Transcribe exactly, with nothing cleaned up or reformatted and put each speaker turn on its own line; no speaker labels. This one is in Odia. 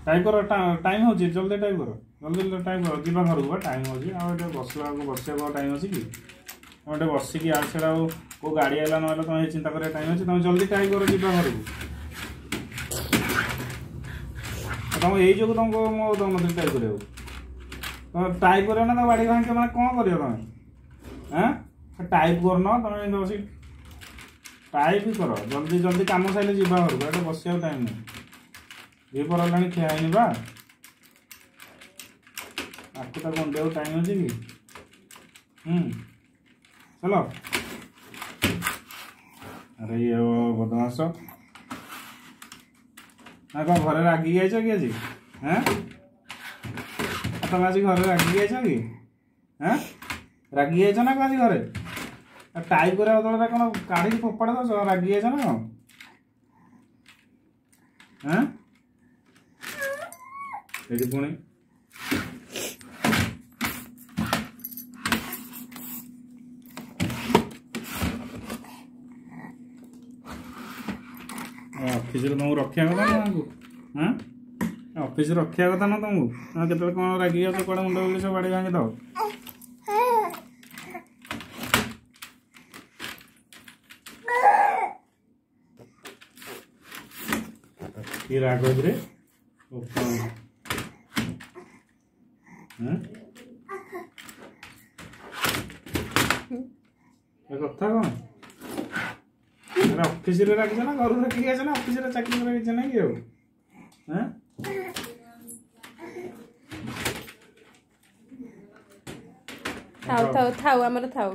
ଟାଇପ୍ କର, ଟାଇମ୍ ହେଉଛି, ଜଲ୍ଦି ଟାଇପ୍ କର, ଜଲ୍ଦି ଟାଇପ୍ କର, ଯିବା ଘରକୁ ବା ଟାଇମ୍ ହେଉଛି। ଆଉ ଏଠି ବସିଲା ବେଳକୁ ବସିବାକୁ ଆଉ ଟାଇମ୍ ଅଛି କି? ତମେ ଏଠି ବସିକି ଆଉ ସେଇଟା ଆଉ କେଉଁ ଗାଡ଼ି ଆଇଲା ନହେଲେ ତମେ ଚିନ୍ତା କରିବା ଟାଇମ୍ ଅଛି? ତମେ ଜଲ୍ଦି ଟାଇପ୍ କର, ଯିବା ଘରକୁ। ତମ ଏଇ ଯୋଗୁଁ ତମକୁ ମୁଁ ଦଉନଥିଲି ଟାଇପ୍ କରିବାକୁ। ତମେ ଟାଇପ୍ କରିବ ନା ତାକୁ ବାଡ଼ି ଭାଙ୍ଗିବ, ମାନେ କ'ଣ କରିବ ତମେ? ଆଁ, ଟାଇପ୍ କରୁନ ତମେ, ଏମିତି ବସିକି ଟାଇପ୍ କର ଜଲ୍ଦି ଜଲ୍ଦି, କାମ ସାରିଲେ ଯିବା ଘରକୁ। ଏଠି ବସିବାକୁ ଟାଇମ୍ ନାହିଁ। ଦ୍ୱିପହର ହେଲାଣି, ଖିଆ ହେଇନି ବା। ଆକୁ ତାକୁ ଅଣ୍ଡିବାକୁ ଟାଇମ୍ ଅଛି କି? ହୁଁ, ଚାଲ। ଆରେ ଇଏ ବଦମାସ ନା କ'ଣ? ଘରେ ରାଗିକି ଯାଇଛ କି ଆଜି? ଆଁ, ତମେ ଆଜି ଘରେ ରାଗିକି ଯାଇଛ କି? ଆଁ, ରାଗିକି ଯାଇଛ ନା କ'ଣ ଆଜି ଘରେ? ଟାଇପ୍ କରିବା ବଦଳରେ କ'ଣ କାଢ଼ିକି ଫୋପାଡ଼ି ଦେଉଛ? ରାଗି ଯାଇଛ ନା କ'ଣ? ଆଁ, ଏଠି ପୁଣି ଅଫିସରେ ତମକୁ ରଖିବା କଥା ନା ତାଙ୍କୁ? ହଁ, ଅଫିସରେ ରଖିବା କଥା ନା ତମକୁ? କେତେବେଳେ କ'ଣ ରାଗି ଯାଉଛ, କୁଆଡ଼େ ମୁଣ୍ଡ ବୁଲି ସବୁ ବାଡ଼ି ଭାଙ୍ଗିଦେବ। କି ରାଗ କିରେ? କଥା କ'ଣ? ଅଫିସରେ ରାଗିଛ ନା ଘରୁ ରଖିକି ଆଇଛ ନା ଅଫିସରେ ଚାକିରି କରିବା କିଛି ନାହିଁ କି ଆଉ?
ଥାଉ ଥାଉ ଥାଉ, ଆମର ଥାଉ।